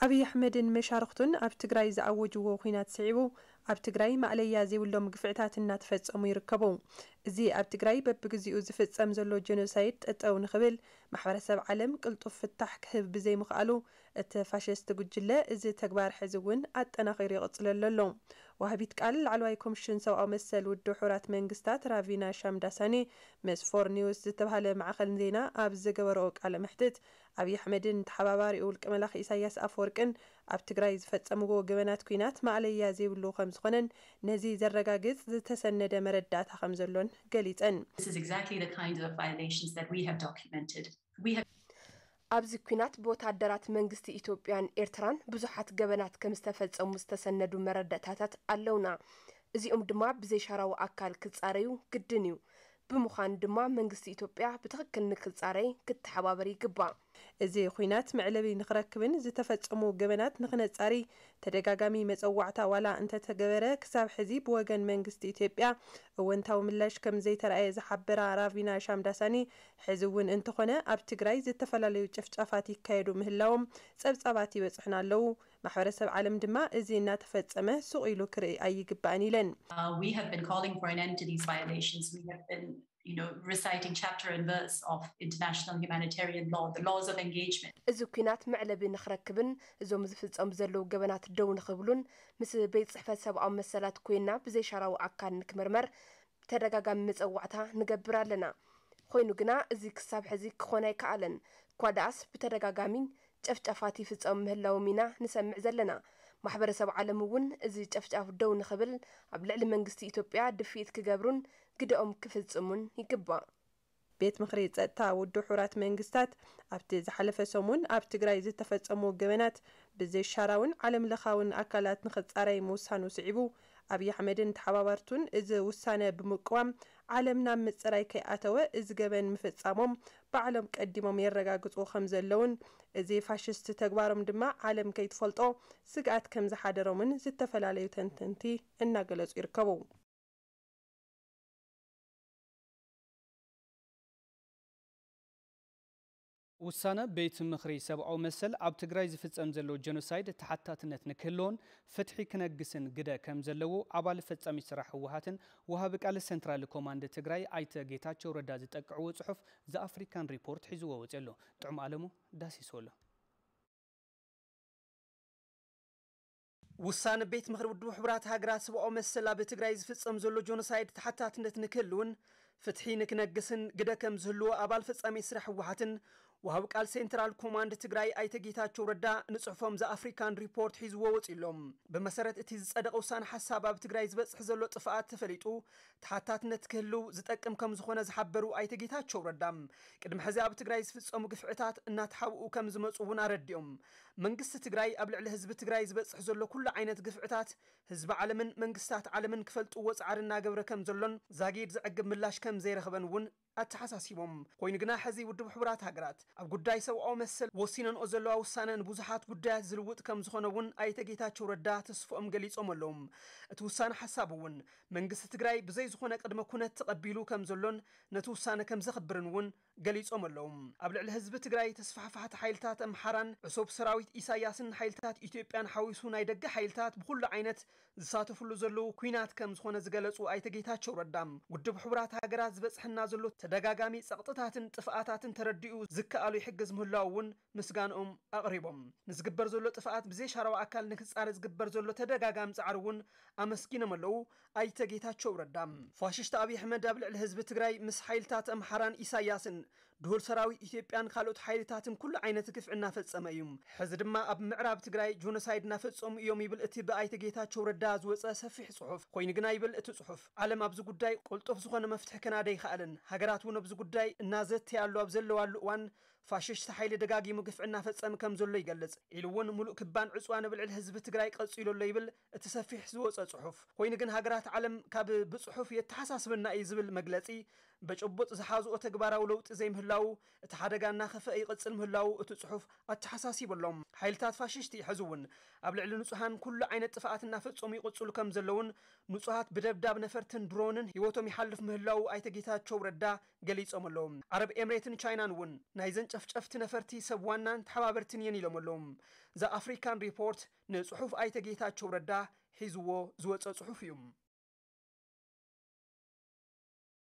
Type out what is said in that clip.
ኣብይ ኣሕመድን መሻርኽቱን ኣብ ትግራይ ዝኣወጅዎ ኲናት ስዒቡ፣ ኣብ ትግራይ ማእለያ ዘይብሎም ግፍዕታት እናተፈጸሙ ይርከቡ። እዚ ኣብ ትግራይ በብግዚኡ ዝፍጸም ዘሎ ጀኖሳይድ ጠጠው ንኽብል ማሕበረሰብ ዓለም ቅልጡፍ ፍታሕ ክህብ ብዘይምኽኣሉ፣ እቲ ፋሽስት ጉጅለ እዚ ተግባር ሕዚ እውን ኣጠናኺሩ ይቕጽለሉ ኣሎ። ወሃቢት ቃል ላዕለዋይ ኮሚሽን ሰብኣዊ መሰል ውድብ ሕቡራት መንግስታት ራቪና ሻምዳሳኒ ምስ ፎር ኒውስ ዝተባህለ ማዕኸን ዜና ኣብ ዝገበረኦ ቃለ መሕትት፣ ኣብይ ኣሕመድን ተሓባባሪኡ ውልቀ መላኺ ኢሳያስ ኣፈወርቅን ኣብ ትግራይ ዝፈጸምዎ ገበናት ኲናት ማእለያ ዘይብሉ ከም ዝኾነን ነዚ ዘረጋግጽ ዝተሰነደ መረዳእታ ከም ዘሎን ገሊጸን። This is exactly the kind of violations that we have documented. We have ኣብዚ ኲናት ብወታደራት መንግስቲ ኢትዮጵያን ኤርትራን ብዙሓት ገበናት ከም ዝተፈጸሙ ዝተሰነዱ መረዳእታታት ኣለውና። እዚኦም ድማ ብዘይሻራዊ ኣካል ክጻረዩ ግድን እዩ። ብምዃኑ ድማ መንግስቲ ኢትዮጵያ ብትኽክል ንክጻረይ ክተሓባበር ይግባእ። እዚ ኲናት መዕለቢ ንኽረክብን ዝተፈጸሙ ገበናት ንኽነጻሪ ተደጋጋሚ መጸዋዕታ ዋላ እንተተገበረ፣ ክሳብ ሕዚ ብወገን መንግስቲ ኢትዮጵያ እወንታዊ ምላሽ ከም ዘይተራእየ ዝሓበራ ራቪና ሻምዳሳኒ፣ ሕዚ እውን እንተኾነ ኣብ ትግራይ ዝተፈላለዩ ጭፍጫፋት ይካየዱ ምህላዎም ጸብጻባት ይበጽሑና ኣለዉ። ማሕበረሰብ ዓለም ድማ እዚ እናተፈጸመ ስቕ ኢሉ ክርኢ ኣይግባእን ኢለን። Uh, we have been calling for an end to these violations. We have been, you know, reciting chapter and verse of international humanitarian law, the laws of engagement. እዚ ኲናት መዕለቢ ንኽረክብን እዞም ዝፍጸሙ ዘለዉ ገበናት ደው ንኽብሉን ምስ ቤት ጽሕፈት ሰብኣዊ መሰላት ኮይና ብዘይሻራዊ ኣካል ንክምርመር ተደጋጋሚ መጸዋዕታ ንገብር ኣለና። ኮይኑ ግና እዚ ክሳብ ሕዚ ክኾን ኣይከኣለን። እኳ ደኣስ ብተደጋጋሚ ጨፍጫፋት ይፍጸሙ ምህላዎም ኢና ንሰምዕ ዘለና። ማሕበረሰብ ዓለም እውን እዚ ጨፍጫፍ ደው ንኽብል ኣብ ልዕሊ መንግስቲ ኢትዮጵያ ድፍኢት ክገብሩን ግደኦም ክፍጽሙን ይግባእ። ቤት ምኽሪ ጸጥታ ውድብ ሕቡራት መንግስታት ኣብቲ ዝሓለፈ ሰሙን ኣብ ትግራይ ዝተፈጸሙ ገበናት ብዘይሻራውን ዓለም ለኻውን ኣካላት ንኽጻረይ ምውሳኑ ስዒቡ ኣብይ ኣሕመድን ተሓባባርቱን እዚ ውሳነ ብምቅዋም ዓለም ናብ ምጽራይ ከይኣተወ እዚ ገበን ምፍጻሞም ባዕሎም ቀዲሞም የረጋግጹ ከም ዘለውን እዚ ፋሽስት ተግባሮም ድማ ዓለም ከይትፈልጦ ስግኣት ከም ዝሓደሮምን ዝተፈላለዩ ተንተንቲ እናገለጹ ይርከቡ። ውሳነ ቤት ምኽሪ ሰብኣዊ መሰል ኣብ ትግራይ ዝፍጸም ዘሎ ጀኖሳይድ ተሓታትነት ንክህልዎን ፍትሒ ክነግስን ግደ ከም ዘለዎ ኣባል ፈጻሚ ስራሕ ህወሓትን ወሃቢ ቃል ሰንትራል ኮማንድ ትግራይ ኣይተ ጌታቸው ረዳ ዝጠቅዕዎ ጽሑፍ ዘኣፍሪካን ሪፖርት ሒዝዎ ወጺኡ ኣሎ። ጥዑም ኣለሙ ዳሲስዎ ኣሎ። ውሳነ ቤት ምኽሪ ውድብ ሕቡራት ሃገራት ሰብኣዊ መሰል ኣብ ትግራይ ዝፍጸም ዘሎ ጆኖሳይድ ተሓታትነት ንክህልውን ፍትሒ ንክነግስን ግደ ከም ዝህልዎ ኣባል ፈጻሚ ስራሕ ህወሓትን ወሃብ ቃል ሴንትራል ኮማንድ ትግራይ ኣይተ ጌታቸው ረዳ ንጽሑፎም ዘኣፍሪካን ሪፖርት ሒዝዎ ወጺሎም። ብመሰረት እቲ ዝጸደቐ ውሳነ ሓሳብ ኣብ ትግራይ ዝበጽሕ ዘሎ ጥፍኣት ተፈሊጡ ተሓታትነት ክህልው ዝጠቅም ከም ዝኾነ ዝሓበሩ ኣይተ ጌታቸው ረዳ ቅድሚ ሕዚ ኣብ ትግራይ ዝፍጸሙ ግፍዕታት እናተሓብኡ ከም ዝመፁ እውን ኣረዲኦም። መንግስቲ ትግራይ ኣብ ልዕሊ ህዝቢ ትግራይ ዝበፅሕ ዘሎ ኩሉ ዓይነት ግፍዕታት ህዝቢ ዓለምን መንግስታት ዓለምን ክፈልጥዎ ፃዕሪ እናገበረ ከም ዘሎን ዛጊድ ዘዕግብ ምላሽ ከም ዘይረኸበን እውን ኣተሓሳሲቦም። ኮይኑ ግና ሕዚ ውድብ ሕቡራት ሃገራት ኣብ ጉዳይ ሰብኣዊ መሰል ወሲነንኦ ዘለዋ ውሳነ ንብዙሓት ጉዳያት ዝልውጥ ከም ዝኾነ እውን ኣይተ ጌታቸው ረዳ ተስፍኦም ገሊፆም ኣለዉ። እቲ ውሳነ ሓሳብ እውን መንግስቲ ትግራይ ብዘይ ዝኾነ ቅድመ ኩነት ተቐቢሉ ከም ዘሎን ነቲ ውሳነ ከም ዘኽብርን እውን ገሊጾም ኣለዉ። ኣብ ልዕሊ ህዝቢ ትግራይ ተስፋሕፋሕቲ ሓይልታት ኣምሓራን ዕሱብ ሰራዊት ኢሳያስን ሓይልታት ኢትዮጵያን ሓዊሱ ናይ ደገ ሓይልታት ብኹሉ ዓይነት ዝሳተፍሉ ዘለዉ ኲናት ከም ዝኾነ ዝገለጹ ኣይተ ጌታቸው ረዳ ውድብ ሕቡራት ሃገራት ዝበጽሐና ዘሎ ተደጋጋሚ ጸቕጥታትን ጥፍኣታትን ተረዲኡ ዝከኣሉ ይሕግዝ ምህላው እውን ምስጋንኦም ኣቕሪቦም። ንዝግበር ዘሎ ጥፍኣት ብዘይሻራዊ ኣካል ንክጻረ ዝግበር ዘሎ ተደጋጋሚ ጻዕሪ እውን ኣመስጊኖም ኣለዉ ኣይተ ጌታቸው ረዳ። ፋሽስት ኣብይ ኣሕመድ ኣብ ልዕሊ ህዝቢ ትግራይ ምስ ሓይልታት ኣምሓራን ኢሳያስን ድሁል ሰራዊት ኢትዮጵያን ካልኦት ሓይልታትን ኩሉ ዓይነት ግፍዒ እናፈጸመ እዩ። ሕዚ ድማ ኣብ ምዕራብ ትግራይ ጆኖሳይድ እናፈጸሙ እዮም ይብል እቲ ብኣይተ ጌታቸው ረዳ ዝወጸ ሰፊሕ ጽሑፍ። ኮይኑ ግና ይብል እቲ ጽሑፍ፣ ዓለም ኣብዚ ጉዳይ ቅልጡፍ ዝኾነ መፍትሒ ከናደ ይኸኣልን ሃገራት እውን ኣብዚ ጉዳይ እናዘተያሉ ኣብ ዘለዋሉ እዋን ፋሽስት ሓይሊ ደጋጊሙ ግፍዒ እናፈጸመ ከም ዘሎ ይገልጽ ኢሉ እውን ሙሉእ ክባን ዕጽዋን ኣብ ልዕሊ ህዝቢ ትግራይ ቀጺሉ ኣሎ ይብል እቲ ሰፊሕ ዝወጸ ጽሑፍ። ኮይኑ ግን ሃገራት ዓለም ካብ ብጽሑፍ የተሓሳስበና እዩ ዝብል መግለጺ በጭቡጥ ዝሓዝኦ ተግባራዊ ለውጢ ዘይምህሉ ምህላው፣ እቲ ሓደጋ እናኸፍአ ይቕጽል ምህላው እቲ ጽሑፍ ኣተሓሳሲቡ ኣሎ። ሓይልታት ፋሽስቲ ሕዚ እውን ኣብ ልዕሊ ንጹሃን ኩሉ ዓይነት ጥፍኣት እናፈጸሙ ይቕጽሉ ከም ዘለውን፣ ንጹሃት ብደብዳብ ነፈርትን ድሮንን ህይወቶም ይሓልፍ ምህላው ኣይተ ጌታቸው ረዳ ገሊጾም ኣለዉ። ዓረብ ኤምሬትን ቻይናን እውን ናይዘን ጨፍጨፍቲ ነፈርቲ ሰብ ዋናን ተሓባበርትን እየን ኢሎም ኣለዉ። ዘ ኣፍሪካን ሪፖርት ንጽሑፍ ኣይተ ጌታቸው ረዳ ሒዝዎ ዝወጸ ጽሑፍ እዩ።